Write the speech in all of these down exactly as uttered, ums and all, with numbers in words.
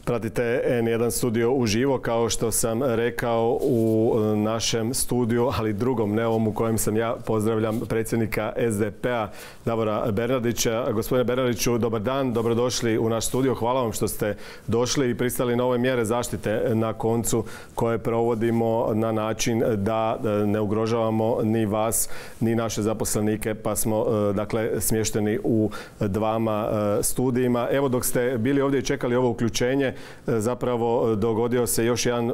Pratite en jedan studio uživo, kao što sam rekao, u našem studiju, ali drugom, ne ovom u kojem sam ja, pozdravljam predsjednika S D P-a Davora Bernardića. Gospodine Bernardiću, dobar dan, dobrodošli u naš studio. Hvala vam što ste došli i pristali na ove mjere zaštite na koncu koje provodimo na način da ne ugrožavamo ni vas, ni naše zaposlenike, pa smo dakle smješteni u dvama studijima. Evo, dok ste bili ovdje i čekali ovo uključenje, zapravo dogodio se još jedan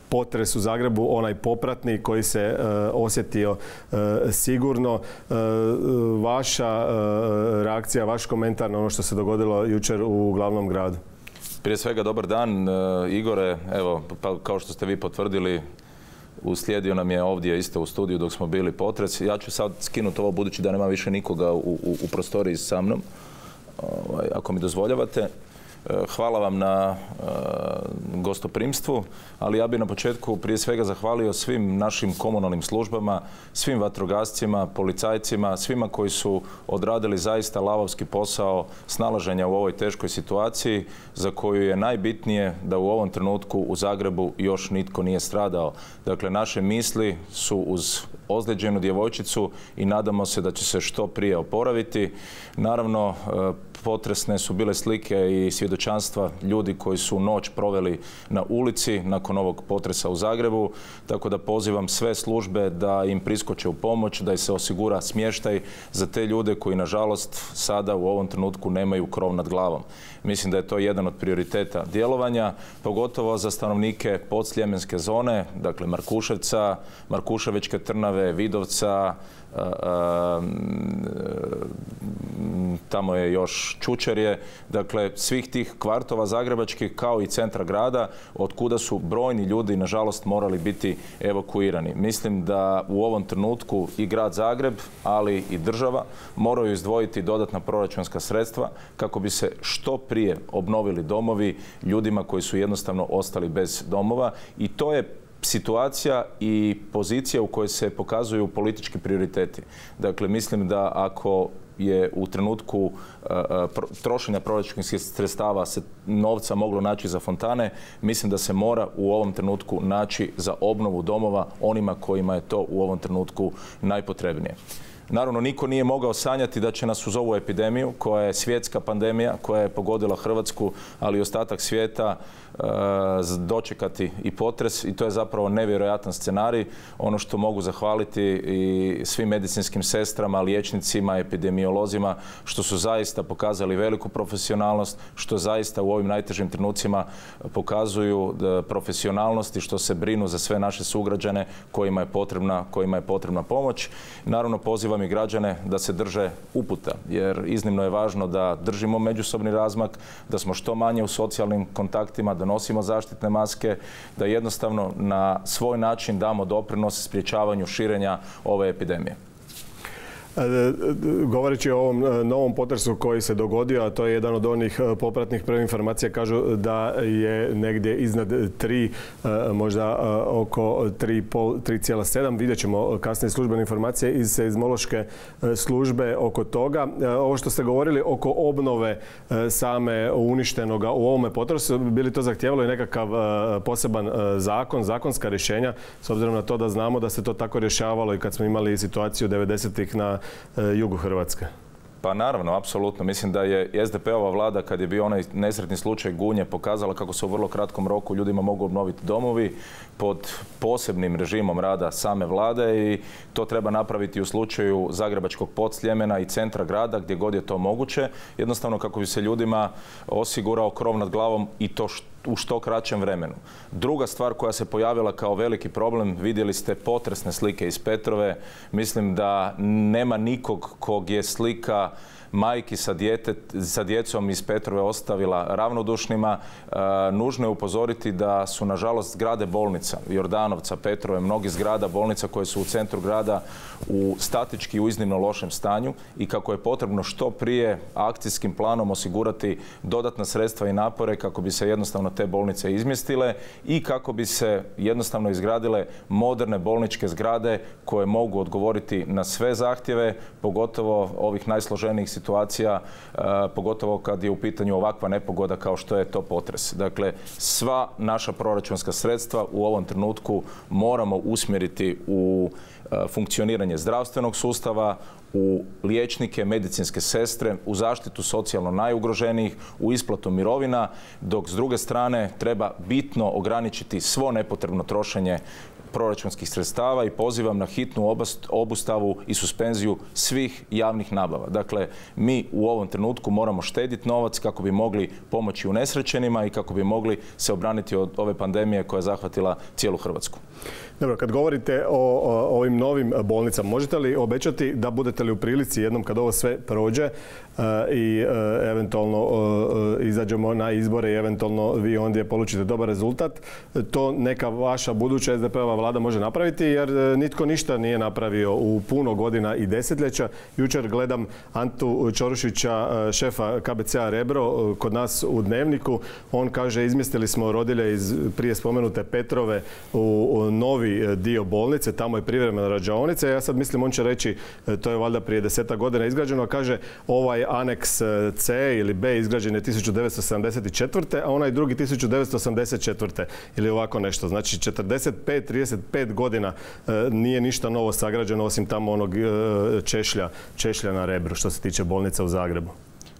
potres u Zagrebu, onaj popratni koji se osjetio sigurno. Vaša reakcija, vaš komentar na ono što se dogodilo jučer u glavnom gradu? Prije svega dobar dan, Igore. Evo, pa kao što ste vi potvrdili, uslijedio nam je ovdje isto u studiju dok smo bili potres. Ja ću sad skinuti ovo budući da nema više nikoga u, u, u prostoriji sa mnom, ovaj, ako mi dozvoljavate. Hvala vam na uh, gostoprimstvu, ali ja bih na početku prije svega zahvalio svim našim komunalnim službama, svim vatrogascima, policajcima, svima koji su odradili zaista lavovski posao snalaženja u ovoj teškoj situaciji za koju je najbitnije da u ovom trenutku u Zagrebu još nitko nije stradao. Dakle, naše misli su uz ozlijeđenu djevojčicu i nadamo se da će se što prije oporaviti. Naravno, potresne su bile slike i svjedočanstva ljudi koji su noć proveli na ulici nakon ovog potresa u Zagrebu, tako da pozivam sve službe da im priskoče u pomoć, da im se osigura smještaj za te ljude koji nažalost sada u ovom trenutku nemaju krov nad glavom. Mislim da je to jedan od prioriteta djelovanja, pogotovo za stanovnike podsljemenske zone, dakle Markuševca, Markuševićke Trnave, Vidovca, a, a, tamo je još Čučerje, dakle svih tih kvartova zagrebačkih kao i centra grada od kuda su brojni ljudi nažalost morali biti evakuirani. Mislim da u ovom trenutku i grad Zagreb, ali i država moraju izdvojiti dodatna proračunska sredstva kako bi se što prije obnovili domovi ljudima koji su jednostavno ostali bez domova, i to je situacija i pozicija u kojoj se pokazuju politički prioriteti. Dakle, mislim da ako je u trenutku uh, trošenja proračunskih sredstava se novca moglo naći za fontane, mislim da se mora u ovom trenutku naći za obnovu domova onima kojima je to u ovom trenutku najpotrebnije. Naravno, niko nije mogao sanjati da će nas uz ovu epidemiju, koja je svjetska pandemija, koja je pogodila Hrvatsku, ali i ostatak svijeta, dočekati i potres, i to je zapravo nevjerojatan scenarij. Ono što mogu zahvaliti i svim medicinskim sestrama, liječnicima, epidemiolozima, što su zaista pokazali veliku profesionalnost, što zaista u ovim najtežim trenucima pokazuju profesionalnost i što se brinu za sve naše sugrađane kojima je potrebna, kojima je potrebna pomoć. Naravno, pozivam i građane da se drže uputa, jer iznimno je važno da držimo međusobni razmak, da smo što manje u socijalnim kontaktima, da nosimo zaštitne maske, da jednostavno na svoj način damo doprinos sprječavanju širenja ove epidemije. Govoreći o ovom novom potresu koji se dogodio, a to je jedan od onih popratnih, prve informacije kažu da je negdje iznad tri, možda oko tri zarez sedam. Vidjet ćemo kasnije službene informacije iz seizmološke službe oko toga. Ovo što ste govorili oko obnove same uništenoga u ovome potresu, bi li to zahtijevalo i nekakav poseban zakon, zakonska rješenja, s obzirom na to da znamo da se to tako rješavalo i kad smo imali situaciju devedesetih na jugu Hrvatske? Pa naravno, apsolutno. Mislim da je S D P-ova vlada, kad je bio onaj nesretni slučaj Gunje, pokazala kako se u vrlo kratkom roku ljudima mogu obnoviti domovi pod posebnim režimom rada same vlade, i to treba napraviti u slučaju Zagrebačkog Podsljemena i centra grada gdje god je to moguće, jednostavno kako bi se ljudima osigurao krov nad glavom, i to što u što kraćem vremenu. Druga stvar koja se pojavila kao veliki problem, vidjeli ste potresne slike iz Petrove. Mislim da nema nikog kog je slika majki sa, djete, sa djecom iz Petrove ostavila ravnodušnima. E, nužno je upozoriti da su nažalost zgrade bolnica, Jordanovca, Petrove, mnogi zgrada bolnica koje su u centru grada u statički u iznimno lošem stanju, i kako je potrebno što prije akcijskim planom osigurati dodatna sredstva i napore kako bi se jednostavno te bolnice izmjestile i kako bi se jednostavno izgradile moderne bolničke zgrade koje mogu odgovoriti na sve zahtjeve, pogotovo ovih najsloženijih situacija situacija, pogotovo kad je u pitanju ovakva nepogoda kao što je to potres. Dakle, sva naša proračunska sredstva u ovom trenutku moramo usmjeriti u funkcioniranje zdravstvenog sustava, u liječnike, medicinske sestre, u zaštitu socijalno najugroženijih, u isplatu mirovina, dok s druge strane treba bitno ograničiti svo nepotrebno trošenje proračunskih sredstava i pozivam na hitnu obustavu i suspenziju svih javnih nabava. Dakle, mi u ovom trenutku moramo štediti novac kako bi mogli pomoći unesrećenima i kako bi mogli se obraniti od ove pandemije koja je zahvatila cijelu Hrvatsku. Dobro, kad govorite o, o ovim novim bolnicama, možete li obećati da budete li u prilici jednom kad ovo sve prođe e, i e, eventualno e, izađemo na izbore i eventualno vi ondje polučite dobar rezultat, to neka vaša buduća es de pe ova vlada može napraviti, jer nitko ništa nije napravio u puno godina i desetljeća. Jučer gledam Antu Čorušića, šefa ka be ce-a Rebro, kod nas u Dnevniku. On kaže, izmjestili smo rodilje iz prije spomenute Petrove u novi dio bolnice, tamo je privremena rađaonica. Ja sad mislim, on će reći, to je valjda prije desetak godina izgrađeno, a kaže ovaj aneks C ili B izgrađen je tisuću devetsto sedamdeset četvrte. a onaj drugi tisuću devetsto osamdeset četvrte ili ovako nešto. Znači četrdeset pet, trideset pet godina nije ništa novo sagrađeno osim tamo onog češlja, češlja na Rebru što se tiče bolnica u Zagrebu.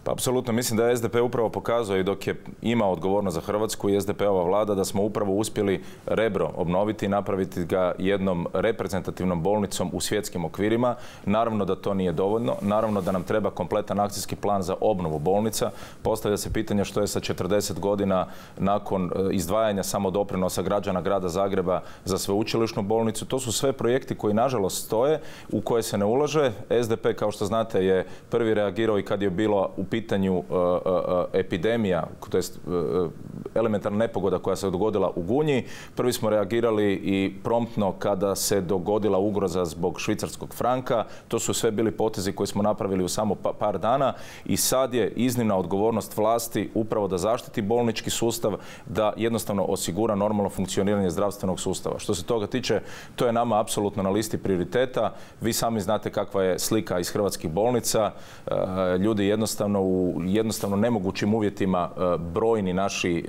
Pa apsolutno, mislim da je es de pe upravo pokazao i dok je imao odgovornost za Hrvatsku i es de pe ova vlada da smo upravo uspjeli Rebro obnoviti i napraviti ga jednom reprezentativnom bolnicom u svjetskim okvirima. Naravno da to nije dovoljno, naravno da nam treba kompletan akcijski plan za obnovu bolnica. Postavlja se pitanje što je sa četrdeset godina nakon izdvajanja samodoprinosa građana grada Zagreba za sveučilišnu bolnicu. To su sve projekti koji nažalost stoje, u koje se ne ulaže. es de pe, kao što znate, je prvi reagirao i kad je bilo u pitanju uh, uh, epidemija, to jest uh, elementarna nepogoda koja se dogodila u Gunji. Prvi smo reagirali i promptno kada se dogodila ugroza zbog švicarskog franka. To su sve bili potezi koji smo napravili u samo pa, par dana i sad je iznimna odgovornost vlasti upravo da zaštiti bolnički sustav, da jednostavno osigura normalno funkcioniranje zdravstvenog sustava. Što se toga tiče, to je nama apsolutno na listi prioriteta. Vi sami znate kakva je slika iz hrvatskih bolnica. Uh, ljudi jednostavno u jednostavno nemogućim uvjetima brojni naši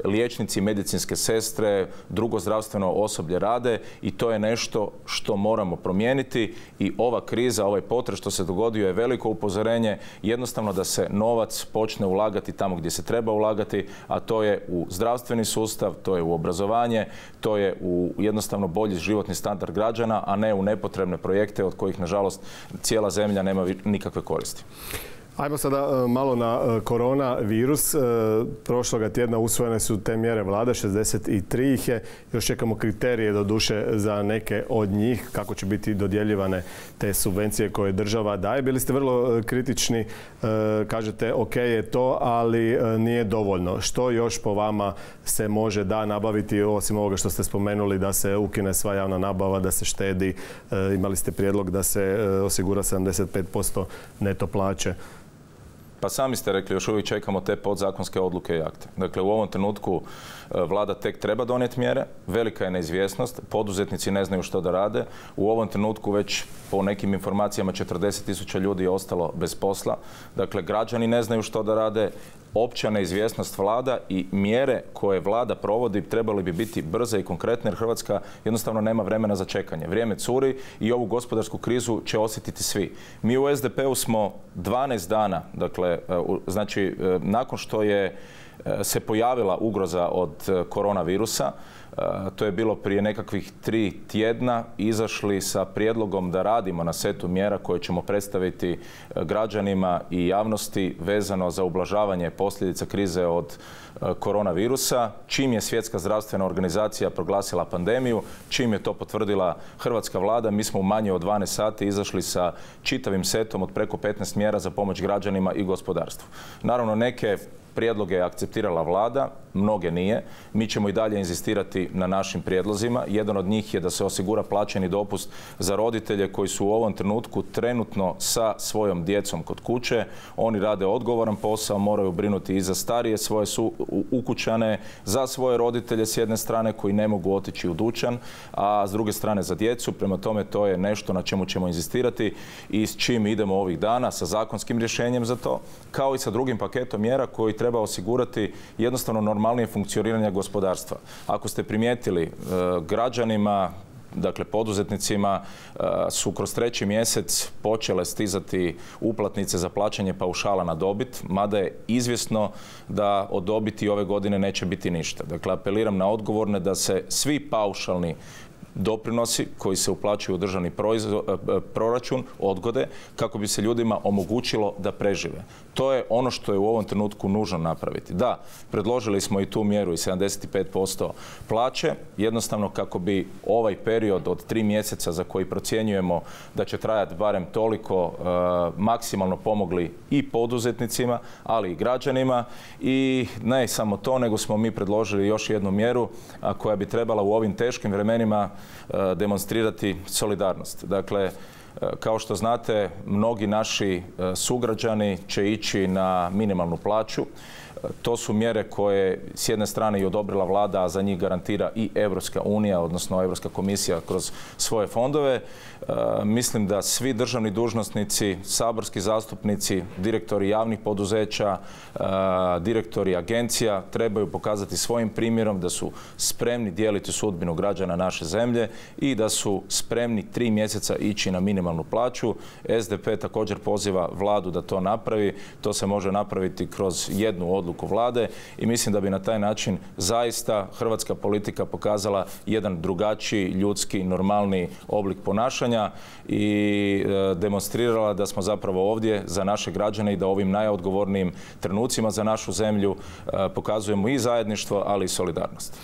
liječnici, medicinske sestre, drugo zdravstveno osoblje rade i to je nešto što moramo promijeniti i ova kriza, ovaj potres što se dogodio je veliko upozorenje jednostavno da se novac počne ulagati tamo gdje se treba ulagati, a to je u zdravstveni sustav, to je u obrazovanje, to je u jednostavno bolji životni standard građana, a ne u nepotrebne projekte od kojih nažalost cijela zemlja nema nikakve koristi. Ajmo sada malo na koronavirus. Prošloga tjedna usvojene su te mjere vlade, šezdeset tri ih je. Još čekamo kriterije doduše za neke od njih, kako će biti dodjeljivane te subvencije koje država daje. Bili ste vrlo kritični, kažete ok je to, ali nije dovoljno. Što još po vama se može da nabaviti, osim ovoga što ste spomenuli da se ukine sva javna nabava, da se štedi? Imali ste prijedlog da se osigura sedamdeset pet posto neto plaće. Pa sami ste rekli, još uvijek čekamo te podzakonske odluke i akte. Dakle, u ovom trenutku vlada tek treba donijeti mjere, velika je neizvjesnost, poduzetnici ne znaju što da rade. U ovom trenutku već po nekim informacijama četrdeset tisuća ljudi je ostalo bez posla. Dakle, građani ne znaju što da rade, opća neizvjesnost vlada i mjere koje vlada provodi trebali bi biti brze i konkretne jer Hrvatska jednostavno nema vremena za čekanje. Vrijeme curi i ovu gospodarsku krizu će osjetiti svi. Mi u es de pe-u smo dvanaest dana, dakle, znači nakon što je se pojavila ugroza od koronavirusa, to je bilo prije nekakvih tri tjedna, izašli sa prijedlogom da radimo na setu mjera koje ćemo predstaviti građanima i javnosti vezano za ublažavanje posljedica krize od koronavirusa. Čim je Svjetska zdravstvena organizacija proglasila pandemiju, čim je to potvrdila hrvatska vlada, mi smo u manje od dvanaest sati izašli sa čitavim setom od preko petnaest mjera za pomoć građanima i gospodarstvu. Naravno, neke Prijedloge je akceptirala vlada, mnoge nije. Mi ćemo i dalje inzistirati na našim prijedlozima. Jedan od njih je da se osigura plaćeni dopust za roditelje koji su u ovom trenutku trenutno sa svojom djecom kod kuće. Oni rade odgovoran posao, moraju brinuti i za starije svoje su ukućane, za svoje roditelje s jedne strane koji ne mogu otići u dućan, a s druge strane za djecu. Prema tome to je nešto na čemu ćemo inzistirati i s čim idemo ovih dana sa zakonskim rješenjem za to, kao i sa drugim paketom mjera koji treba osigurati jednostavno normalnije funkcioniranje gospodarstva. Ako ste primijetili, građanima, dakle poduzetnicima su kroz treći mjesec počele stizati uplatnice za plaćanje paušala na dobit, mada je izvjesno da od dobiti ove godine neće biti ništa. Dakle, apeliram na odgovorne da se svi paušalni doprinosi koji se uplaćuju u državni proračun odgode kako bi se ljudima omogućilo da prežive. To je ono što je u ovom trenutku nužno napraviti. Da, predložili smo i tu mjeru i sedamdeset pet posto plaće, jednostavno kako bi ovaj period od tri mjeseca za koji procjenjujemo da će trajati barem toliko e, maksimalno pomogli i poduzetnicima, ali i građanima. I ne samo to, nego smo mi predložili još jednu mjeru a, koja bi trebala u ovim teškim vremenima demonstrirati solidarnost. Dakle, kao što znate, mnogi naši sugrađani će ići na minimalnu plaću. To su mjere koje s jedne strane i odobrila vlada, a za njih garantira i Europska unija, odnosno Europska komisija kroz svoje fondove. E, mislim da svi državni dužnosnici, saborski zastupnici, direktori javnih poduzeća, e, direktori agencija trebaju pokazati svojim primjerom da su spremni dijeliti sudbinu građana naše zemlje i da su spremni tri mjeseca ići na minimalnu plaću. S D P također poziva vladu da to napravi. To se može napraviti kroz jednu odluku vlade i mislim da bi na taj način zaista hrvatska politika pokazala jedan drugačiji, ljudski, normalni oblik ponašanja i e, demonstrirala da smo zapravo ovdje za naše građane i da ovim najodgovornijim trenucima za našu zemlju e, pokazujemo i zajedništvo, ali i solidarnost.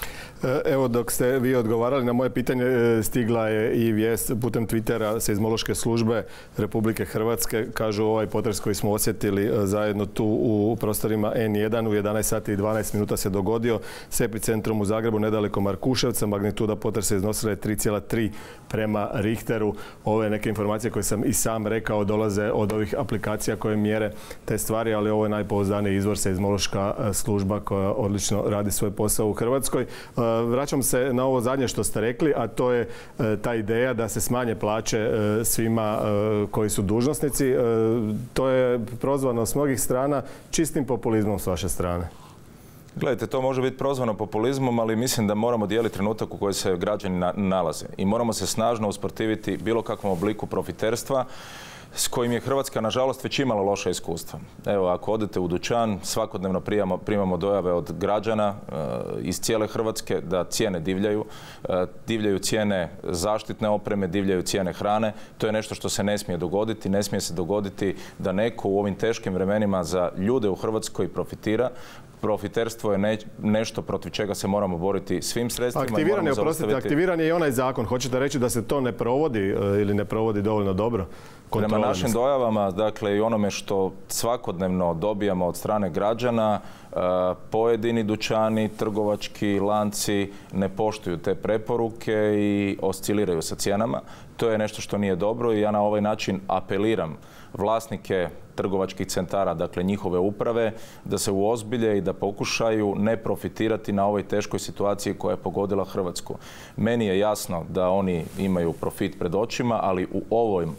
Evo, dok ste vi odgovarali na moje pitanje, stigla je i vijest putem Twittera Seizmološke službe Republike Hrvatske. Kažu, ovaj potres koji smo osjetili zajedno tu u prostorima N jedan u jedanaest sati i dvanaest minuta se dogodio s epicentrom u Zagrebu nedaleko Markuševca. Magnituda potresa iznosila je tri zarez tri prema Richteru. Ove neke informacije koje sam i sam rekao dolaze od ovih aplikacija koje mjere te stvari, ali ovo je najpouzdaniji izvor, Seizmološka služba koja odlično radi svoj posao u Hrvatskoj. Vraćam se na ovo zadnje što ste rekli, a to je ta ideja da se smanje plaće svima koji su dužnosnici. To je prozvano s mnogih strana čistim populizmom s vaše strane. Gledajte, to može biti prozvano populizmom, ali mislim da moramo dijeliti trenutak u kojoj se građani nalaze i moramo se snažno usprotiviti bilo kakvom obliku profiterstva s kojim je Hrvatska, nažalost, već imala loša iskustva. Evo, ako odete u dućan, svakodnevno primamo, primamo dojave od građana e, iz cijele Hrvatske da cijene divljaju. E, divljaju cijene zaštitne opreme, divljaju cijene hrane. To je nešto što se ne smije dogoditi. Ne smije se dogoditi da neko u ovim teškim vremenima za ljude u Hrvatskoj profitira. Profiterstvo je ne, nešto protiv čega se moramo boriti svim sredstvima. Aktiviran je, oprostite, aktiviran je i onaj zakon. Hoćete reći da se to ne provodi ili ne provodi dovoljno dobro? Prema našim dojavama, dakle i onome što svakodnevno dobijamo od strane građana, pojedini dućani, trgovački lanci ne poštuju te preporuke i osciliraju sa cijenama. To je nešto što nije dobro i ja na ovaj način apeliram vlasnike trgovačkih centara, dakle njihove uprave, da se uozbilje i da pokušaju ne profitirati na ovoj teškoj situaciji koja je pogodila Hrvatsku. Meni je jasno da oni imaju profit pred očima, ali u ovom,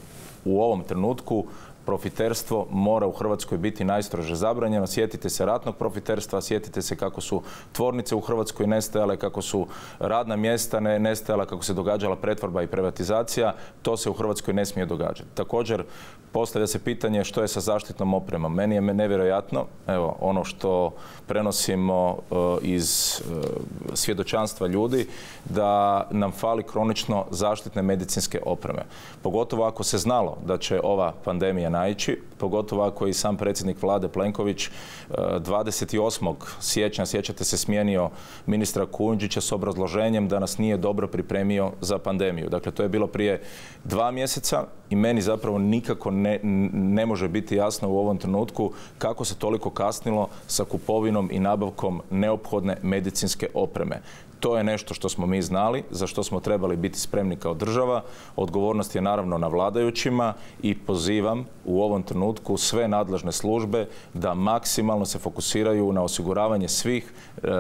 u ovom trenutku profiterstvo mora u Hrvatskoj biti najstrože zabranjeno. Sjetite se ratnog profiterstva, sjetite se kako su tvornice u Hrvatskoj nestajale, kako su radna mjesta ne, nestajala, kako se događala pretvorba i privatizacija. To se u Hrvatskoj ne smije događati. Također, postavlja se pitanje što je sa zaštitnom opremom. Meni je nevjerojatno, evo, ono što prenosimo uh, iz uh, svjedočanstva ljudi, da nam fali kronično zaštitne medicinske opreme. Pogotovo ako se znalo da će ova pandemija najteže naići, pogotovo ako je i sam predsjednik vlade Plenković dvadeset osmog siječnja, sjećate se, smijenio ministra Kujundžića s obrazloženjem da nas nije dobro pripremio za pandemiju. Dakle, to je bilo prije dva mjeseca i meni zapravo nikako ne, ne može biti jasno u ovom trenutku kako se toliko kasnilo sa kupovinom i nabavkom neophodne medicinske opreme. To je nešto što smo mi znali, za što smo trebali biti spremni kao država. Odgovornost je naravno na vladajućima i pozivam u ovom trenutku sve nadležne službe da maksimalno se fokusiraju na osiguravanje svih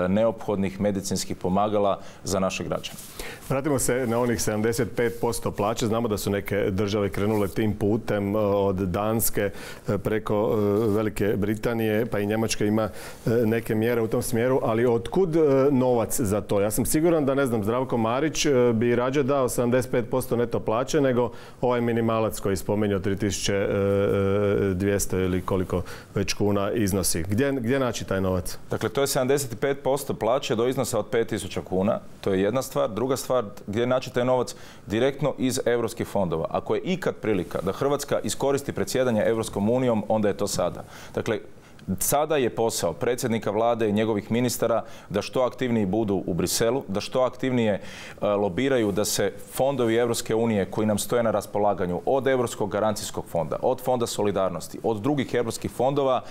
neophodnih medicinskih pomagala za naše građane. Vratimo se na onih sedamdeset pet posto plaće. Znamo da su neke države krenule tim putem, od Danske preko Velike Britanije, pa i Njemačka ima neke mjere u tom smjeru, ali otkud novac za to? Ja sam siguran da, ne znam, Zdravko Marić bi rađe dao sedamdeset pet posto neto plaće nego ovaj minimalac koji spomenuo tri tisuće dvjesto ili koliko već kuna iznosi. Gdje, gdje naći taj novac? Dakle, to je sedamdeset pet posto plaće do iznosa od pet tisuća kuna. To je jedna stvar. Druga stvar, gdje naći taj novac? Direktno iz europskih fondova. Ako je ikad prilika da Hrvatska iskoristi predsjedanje Europskom unijom, onda je to sada. Dakle, sada je posao predsjednika vlade i njegovih ministara da što aktivniji budu u Briselu, da što aktivnije lobiraju da se fondovi Europske unije koji nam stoje na raspolaganju, od Europskog garancijskog fonda, od Fonda solidarnosti, od drugih europskih fondova,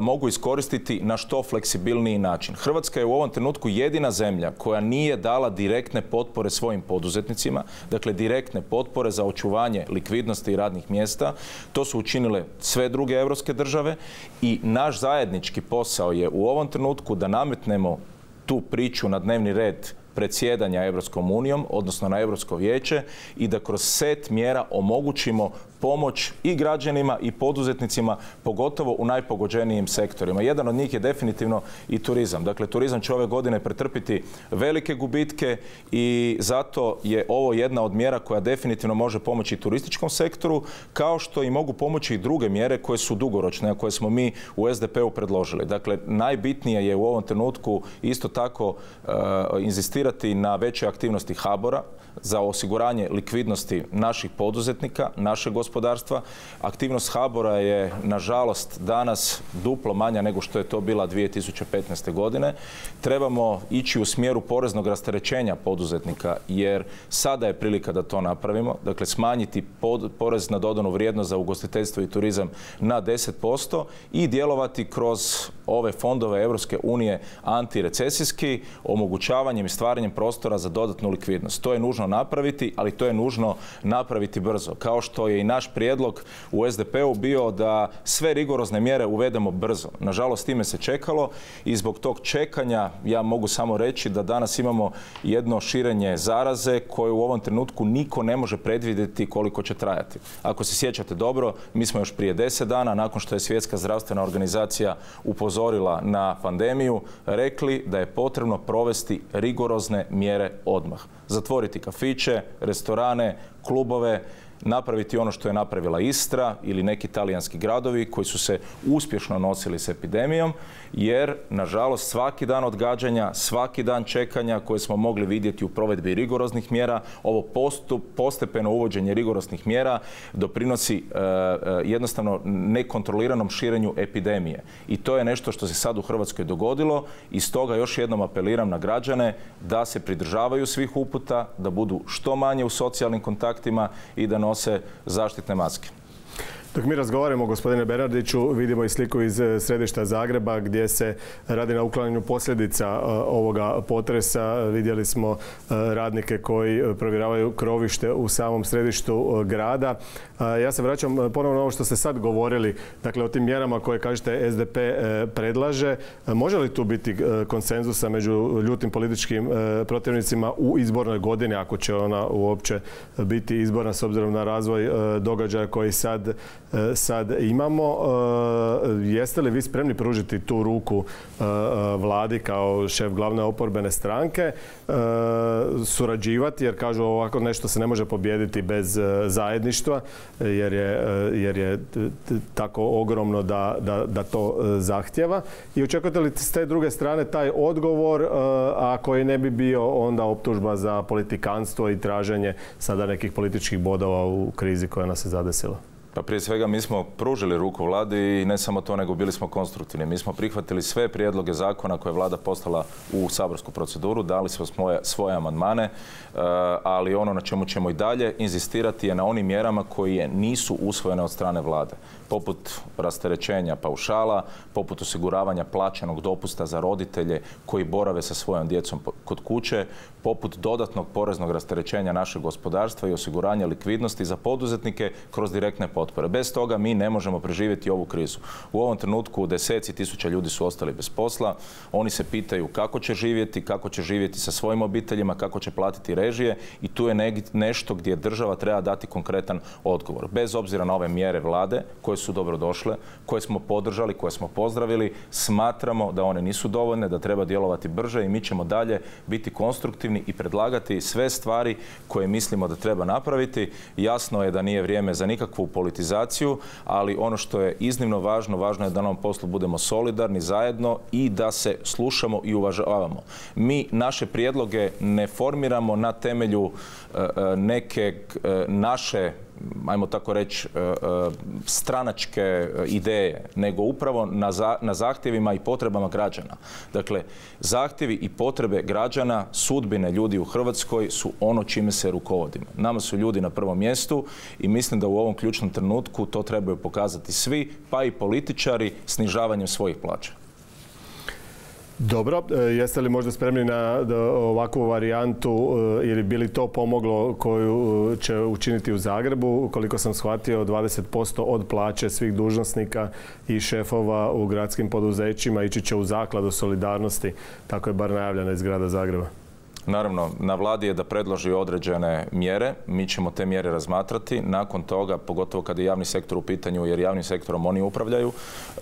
mogu iskoristiti na što fleksibilniji način. Hrvatska je u ovom trenutku jedina zemlja koja nije dala direktne potpore svojim poduzetnicima, dakle direktne potpore za očuvanje likvidnosti i radnih mjesta. To su učinile sve druge europske države i naš zajednički posao je u ovom trenutku da nametnemo tu priču na dnevni red predsjedanja Europskom unijom, odnosno na Europsko vijeće, i da kroz set mjera omogućimo pomoć i građanima i poduzetnicima, pogotovo u najpogođenijim sektorima. Jedan od njih je definitivno i turizam. Dakle, turizam će ove godine pretrpiti velike gubitke i zato je ovo jedna od mjera koja definitivno može pomoći turističkom sektoru, kao što i mogu pomoći i druge mjere koje su dugoročne, a koje smo mi u S D P-u predložili. Dakle, najbitnije je u ovom trenutku isto tako uh, inzistirati na većoj aktivnosti HBOR-a za osiguranje likvidnosti naših poduzetnika, našeg gospodarstva. Aktivnost HBOR-a je, nažalost, danas duplo manja nego što je to bila dvije tisuće petnaeste. godine. Trebamo ići u smjeru poreznog rasterećenja poduzetnika, jer sada je prilika da to napravimo. Dakle, smanjiti pod, porez na dodanu vrijednost za ugostiteljstvo i turizam na deset posto i djelovati kroz ove fondove Europske unije antirecesijski, omogućavanjem i stvaranjem prostora za dodatnu likvidnost. To je nužno napraviti, ali to je nužno napraviti brzo. Kao što je i naš prijedlog u S D P-u bio da sve rigorozne mjere uvedemo brzo. Nažalost, time se čekalo i zbog tog čekanja ja mogu samo reći da danas imamo jedno širenje zaraze koje u ovom trenutku niko ne može predvidjeti koliko će trajati. Ako se sjećate dobro, mi smo još prije deset dana, nakon što je Svjetska zdravstvena organizacija upozorila na pandemiju, rekli da je potrebno provesti rigorozne mjere odmah. Zatvoriti kafiće, restorane, klubove, napraviti ono što je napravila Istra ili neki talijanski gradovi koji su se uspješno nosili s epidemijom, jer, nažalost, svaki dan odgađanja, svaki dan čekanja koje smo mogli vidjeti u provedbi rigoroznih mjera, ovo postup, postepeno uvođenje rigoroznih mjera doprinosi e, jednostavno nekontroliranom širenju epidemije. I to je nešto što se sad u Hrvatskoj dogodilo i stoga još jednom apeliram na građane da se pridržavaju svih uputa, da budu što manje u socijalnim kontaktima i da nose zaštitne maske. Dok mi razgovaramo, gospodine Bernardiću, vidimo i sliku iz središta Zagreba gdje se radi na uklanjanju posljedica ovoga potresa. Vidjeli smo radnike koji provjeravaju krovište u samom središtu grada. Ja se vraćam ponovno na ovo što ste sad govorili, dakle o tim mjerama koje, kažete, S D P predlaže. Može li tu biti konsenzusa među ljutim političkim protivnicima u izbornoj godini, ako će ona uopće biti izborna s obzirom na razvoj događaja koji sad sad imamo? Jeste li vi spremni pružiti tu ruku vladi kao šef glavne oporbene stranke, surađivati, jer kažu ovako nešto se ne može pobijediti bez zajedništva, jer je, jer je tako ogromno da, da, da to zahtjeva? I očekujete li s te druge strane taj odgovor, a koji ne bi bio onda optužba za politikanstvo i traženje sada nekih političkih bodova u krizi koja nas je zadesila? Pa prije svega mi smo pružili ruku vladi i ne samo to, nego bili smo konstruktivni. Mi smo prihvatili sve prijedloge zakona koje je vlada poslala u saborsku proceduru, dali smo svoje, svoje amandmane, ali ono na čemu ćemo i dalje inzistirati je na onim mjerama koje nisu usvojene od strane vlade, poput rasterećenja paušala, poput osiguravanja plaćenog dopusta za roditelje koji borave sa svojom djecom kod kuće, poput dodatnog poreznog rasterećenja našeg gospodarstva i osiguranja likvidnosti za poduzetnike kroz direktne potpore. Bez toga mi ne možemo preživjeti ovu krizu. U ovom trenutku deseci tisuća ljudi su ostali bez posla. Oni se pitaju kako će živjeti, kako će živjeti sa svojim obiteljima, kako će platiti režije i tu je nešto gdje država treba dati konkretan odgovor. Bez obzira na ove mjere vlade koje su dobro došle, koje smo podržali, koje smo pozdravili, smatramo da one nisu dovoljne, da treba djelovati brže i mi ćemo dalje biti konstruktivni i predlagati sve stvari koje mislimo da treba napraviti. Jasno je da nije vrijeme za nikakvu politizaciju, ali ono što je iznimno važno, važno je da na ovom poslu budemo solidarni zajedno i da se slušamo i uvažavamo. Mi naše prijedloge ne formiramo na temelju neke naše, ajmo tako reći, stranačke ideje, nego upravo na zahtjevima i potrebama građana. Dakle, zahtjevi i potrebe građana, sudbine ljudi u Hrvatskoj su ono čime se rukovodimo. Nama su ljudi na prvom mjestu i mislim da u ovom ključnom trenutku to trebaju pokazati svi, pa i političari snižavanjem svojih plaća. Dobro, jeste li možda spremni na ovakvu varijantu ili bi li to pomoglo koju će učiniti u Zagrebu? Koliko sam shvatio, dvadeset posto od plaće svih dužnosnika i šefova u gradskim poduzećima ići će u zakladu solidarnosti. Tako je bar najavljeno iz grada Zagreba. Naravno, na vladi je da predloži određene mjere. Mi ćemo te mjere razmatrati. Nakon toga, pogotovo kada je javni sektor u pitanju, jer javnim sektorom oni upravljaju, e,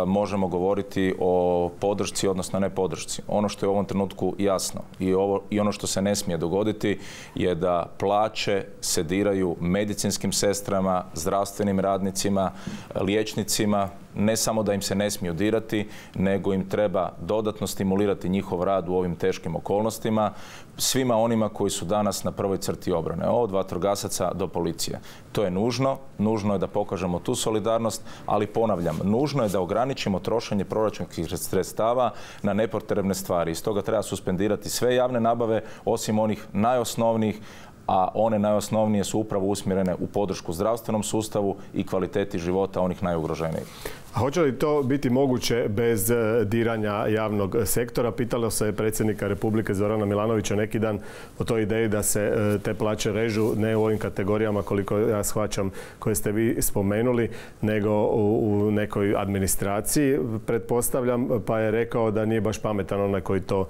možemo govoriti o podršci, odnosno ne podršci. Ono što je u ovom trenutku jasno i, ovo, i ono što se ne smije dogoditi je da plaće se diraju medicinskim sestrama, zdravstvenim radnicima, liječnicima. Ne samo da im se ne smiju dirati, nego im treba dodatno stimulirati njihov rad u ovim teškim okolnostima, svima onima koji su danas na prvoj crti obrane, od vatrogasaca do policije. To je nužno, nužno je da pokažemo tu solidarnost, ali ponavljam, nužno je da ograničimo trošenje proračunskih sredstava na nepotrebne stvari. Iz toga treba suspendirati sve javne nabave, osim onih najosnovnijih, a one najosnovnije su upravo usmjerene u podršku zdravstvenom sustavu i kvaliteti života onih najugroženijih. A hoće li to biti moguće bez diranja javnog sektora? Pitalo se predsjednika Republike Zorana Milanovića neki dan o toj ideji da se te plaće režu ne u ovim kategorijama, koliko ja shvaćam, koje ste vi spomenuli, nego u nekoj administraciji, pretpostavljam, pa je rekao da nije baš pametan onaj koji to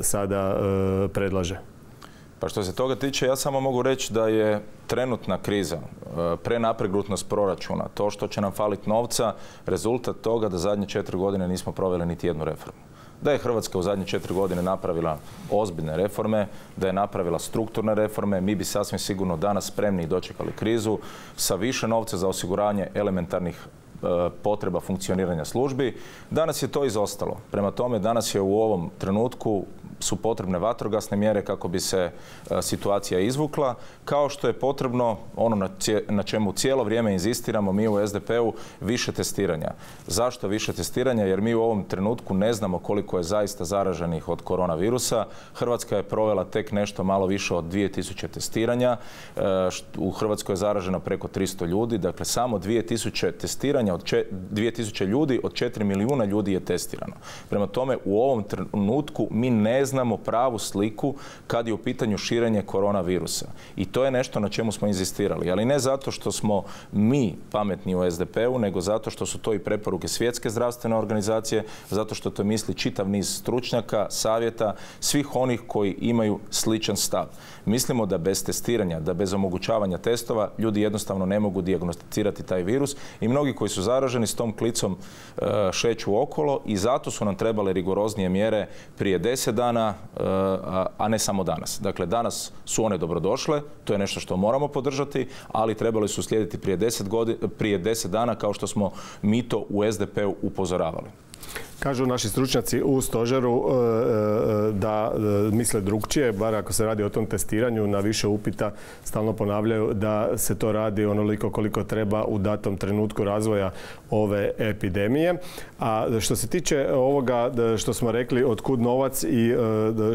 sada predlaže. Pa što se toga tiče, ja samo mogu reći da je trenutna kriza, prenapregnutnost proračuna, to što će nam faliti novca, rezultat toga da zadnje četiri godine nismo proveli niti jednu reformu. Da je Hrvatska u zadnje četiri godine napravila ozbiljne reforme, da je napravila strukturne reforme, mi bi sasvim sigurno danas spremni i dočekali krizu sa više novca za osiguranje elementarnih potreba funkcioniranja službi. Danas je to izostalo. Prema tome, danas je u ovom trenutku su potrebne vatrogasne mjere kako bi se situacija izvukla, kao što je potrebno ono na čemu cijelo vrijeme inzistiramo mi u S D P-u, više testiranja. Zašto više testiranja? Jer mi u ovom trenutku ne znamo koliko je zaista zaraženih od koronavirusa. Hrvatska je provela tek nešto malo više od dvije tisuće testiranja. U Hrvatskoj je zaraženo preko tristo ljudi. Dakle, samo dvije tisuće testiranja od dvije tisuće ljudi od četiri milijuna ljudi je testirano. Prema tome, u ovom trenutku mi ne znamo pravu sliku kad je u pitanju širenje koronavirusa. I to je nešto na čemu smo inzistirali. Ali ne zato što smo mi pametni u S D P-u, nego zato što su to i preporuke Svjetske zdravstvene organizacije, zato što to misli čitav niz stručnjaka, savjeta, svih onih koji imaju sličan stav. Mislimo da bez testiranja, da bez omogućavanja testova ljudi jednostavno ne mogu dijagnosticirati taj virus i mnogi koji su zaraženi s tom klicom šeću okolo i zato su nam trebale rigoroznije mjere prije deset dana, a ne samo danas. Dakle, danas su one dobrodošle, to je nešto što moramo podržati, ali trebali su slijediti prije deset, godina, prije deset dana kao što smo mi to u S D P-u upozoravali. Kažu naši stručnjaci u stožeru da misle drukčije, bar ako se radi o tom testiranju, na više upita stalno ponavljaju da se to radi onoliko koliko treba u datom trenutku razvoja ove epidemije. A što se tiče ovoga što smo rekli, otkud novac i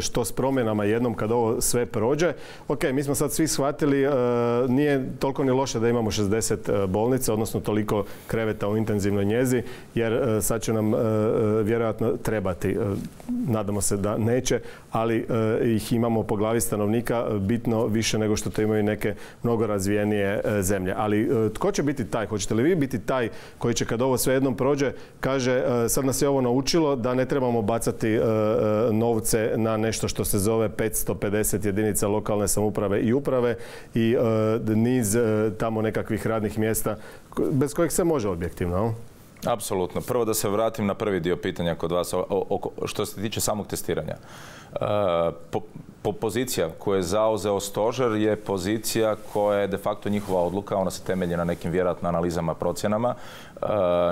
što s promjenama jednom kad ovo sve prođe, ok, mi smo sad svi shvatili, nije toliko ni loše da imamo šezdeset bolnica, odnosno toliko kreveta u intenzivnoj njezi, jer sad će nam vjerojatno trebati. Nadamo se da neće, ali ih imamo po glavi stanovnika bitno više nego što to imaju neke mnogo razvijenije zemlje. Ali tko će biti taj? Hoćete li vi biti taj koji će kad ovo sve jednom prođe, kaže sad nas je ovo naučilo da ne trebamo bacati novce na nešto što se zove petsto pedeset jedinica lokalne samouprave i uprave i niz tamo nekakvih radnih mjesta bez kojih se može objektivno? Apsolutno. Prvo da se vratim na prvi dio pitanja kod vas što se tiče samog testiranja. Po, po pozicija koju je zauzeo stožer je pozicija koja je de facto njihova odluka, ona se temelji na nekim vjerojatno analizama, procjenama.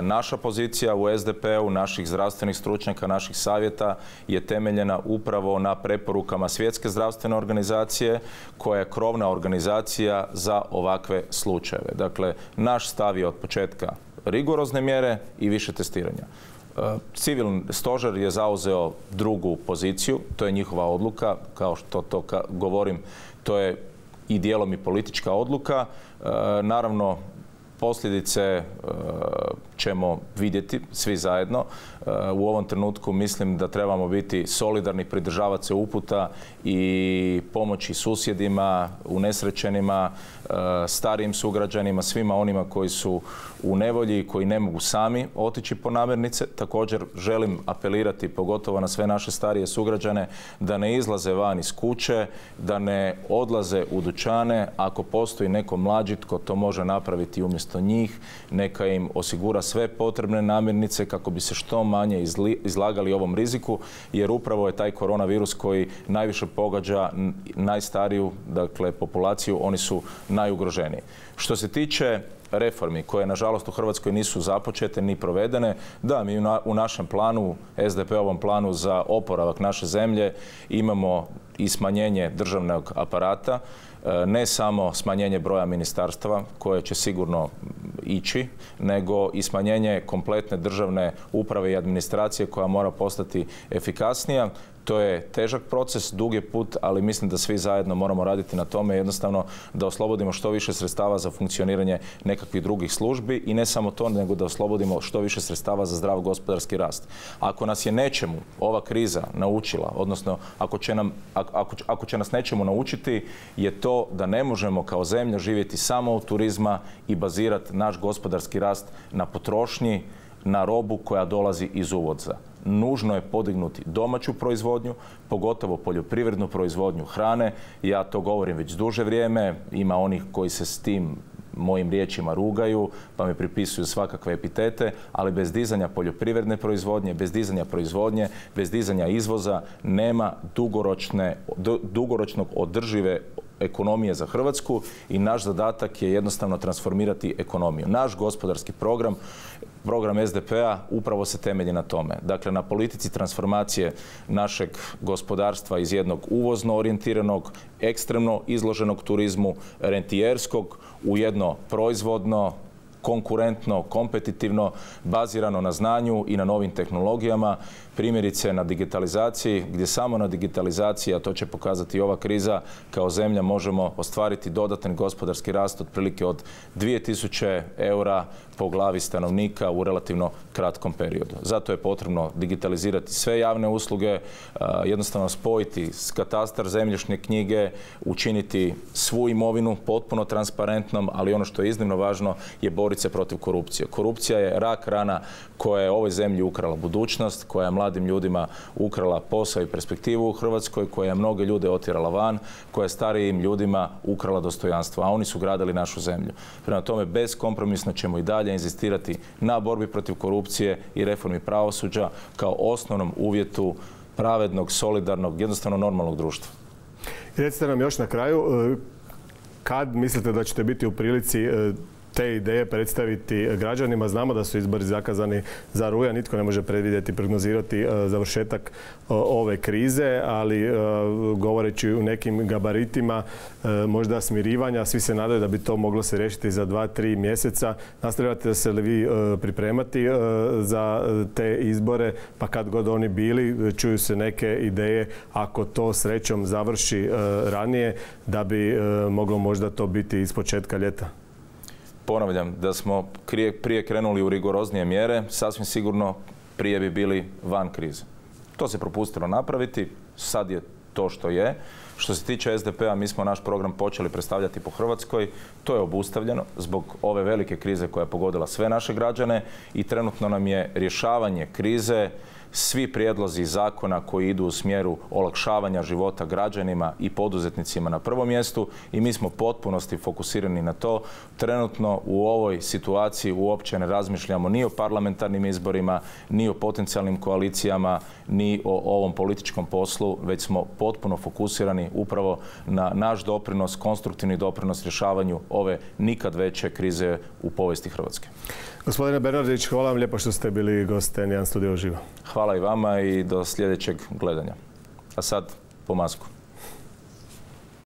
Naša pozicija u S D P-u, naših zdravstvenih stručnjaka, naših savjeta je temeljena upravo na preporukama Svjetske zdravstvene organizacije koja je krovna organizacija za ovakve slučajeve. Dakle, naš stav je od početka rigorozne mjere i više testiranja. Civilni stožer je zauzeo drugu poziciju, to je njihova odluka, kao što to govorim, to je i dijelom i politička odluka. Naravno, posljedice ćemo vidjeti svi zajedno. U ovom trenutku mislim da trebamo biti solidarni, pridržavati se uputa i pomoći susjedima, unesrećenima, starijim sugrađanima, svima onima koji su u nevolji i koji ne mogu sami otići po namirnice. Također želim apelirati pogotovo na sve naše starije sugrađane da ne izlaze van iz kuće, da ne odlaze u dućane. Ako postoji neko mlađi tko to može napraviti umjesto njih, neka im osigura sve potrebne namirnice kako bi se što manje izlagali ovom riziku, jer upravo je taj koronavirus koji najviše pogađa najstariju, dakle, populaciju, oni su najugroženiji. Što se tiče reformi koje nažalost u Hrvatskoj nisu započete ni provedene, da, mi u našem planu, S D P-ovom planu za oporavak naše zemlje imamo i smanjenje državnog aparata, ne samo smanjenje broja ministarstava koje će sigurno ići, nego i smanjenje kompletne državne uprave i administracije koja mora postati efikasnija. To je težak proces, dug je put, ali mislim da svi zajedno moramo raditi na tome jednostavno da oslobodimo što više sredstava za funkcioniranje nekakvih drugih službi i ne samo to, nego da oslobodimo što više sredstava za zdrav gospodarski rast. Ako nas je nečemu ova kriza naučila, odnosno ako će, nam, ako, ako će nas nečemu naučiti, je to da ne možemo kao zemlja živjeti samo od turizma i bazirati naš gospodarski rast na potrošnji, na robu koja dolazi iz uvoza. Nužno je podignuti domaću proizvodnju, pogotovo poljoprivrednu proizvodnju hrane. Ja to govorim već duže vrijeme, ima onih koji se s tim mojim riječima rugaju, pa mi pripisuju svakakve epitete, ali bez dizanja poljoprivredne proizvodnje, bez dizanja proizvodnje, bez dizanja izvoza nema dugoročne, dugoročnog održive ekonomije za Hrvatsku i naš zadatak je jednostavno transformirati ekonomiju. Naš gospodarski program, program S D P-a upravo se temelji na tome. Dakle, na politici transformacije našeg gospodarstva iz jednog uvozno orijentiranog, ekstremno izloženog turizmu, rentijerskog, u jedno proizvodno, konkurentno, kompetitivno, bazirano na znanju i na novim tehnologijama, primjerice na digitalizaciji, gdje samo na digitalizaciji, a to će pokazati i ova kriza, kao zemlja možemo ostvariti dodatan gospodarski rast otprilike od dvije tisuće eura po glavi stanovnika u relativno kratkom periodu. Zato je potrebno digitalizirati sve javne usluge, jednostavno spojiti katastar, zemljišne knjige, učiniti svu imovinu potpuno transparentnom, ali ono što je iznimno važno je boriti se protiv korupcije. Korupcija je rak rana koja je ovoj zemlji ukrala budućnost, koja je mladim ljudima ukrala posao i perspektivu u Hrvatskoj, koja je mnoge ljude otjerala van, koja je starijim ljudima ukrala dostojanstvo, a oni su gradili našu zemlju. Prema tome, beskompromisno ćemo i dalje inzistirati na borbi protiv korupcije i reformi pravosuđa kao osnovnom uvjetu pravednog, solidarnog, jednostavno normalnog društva. Recite nam još na kraju, kad mislite da ćete biti u prilici te ideje predstaviti građanima. Znamo da su izbori zakazani za rujan, nitko ne može predvidjeti, prognozirati završetak ove krize, ali govoreći u nekim gabaritima možda smirivanja, svi se nadaju da bi to moglo se riješiti za dva, tri mjeseca. Nastavljate se li vi pripremati za te izbore, pa kad god oni bili, čuju se neke ideje, ako to srećom završi ranije, da bi moglo možda to biti iz početka ljeta? Ponavljam, da smo prije krenuli u rigoroznije mjere, sasvim sigurno prije bi bili van krize. To se propustilo napraviti, sad je to što je. Što se tiče S D P-a, mi smo naš program počeli predstavljati po Hrvatskoj. To je obustavljeno zbog ove velike krize koja je pogodila sve naše građane i trenutno nam je rješavanje krize, svi prijedlozi zakona koji idu u smjeru olakšavanja života građanima i poduzetnicima na prvom mjestu i mi smo potpunosti fokusirani na to. Trenutno u ovoj situaciji uopće ne razmišljamo ni o parlamentarnim izborima, ni o potencijalnim koalicijama, ni o ovom političkom poslu, već smo potpuno fokusirani upravo na naš doprinos, konstruktivni doprinos rješavanju ove nikad veće krize u povijesti Hrvatske. Gospodine Bernardić, hvala vam lijepo što ste bili gost N jedan Studio uživo. Hvala i vama i do sljedećeg gledanja. A sad po masku.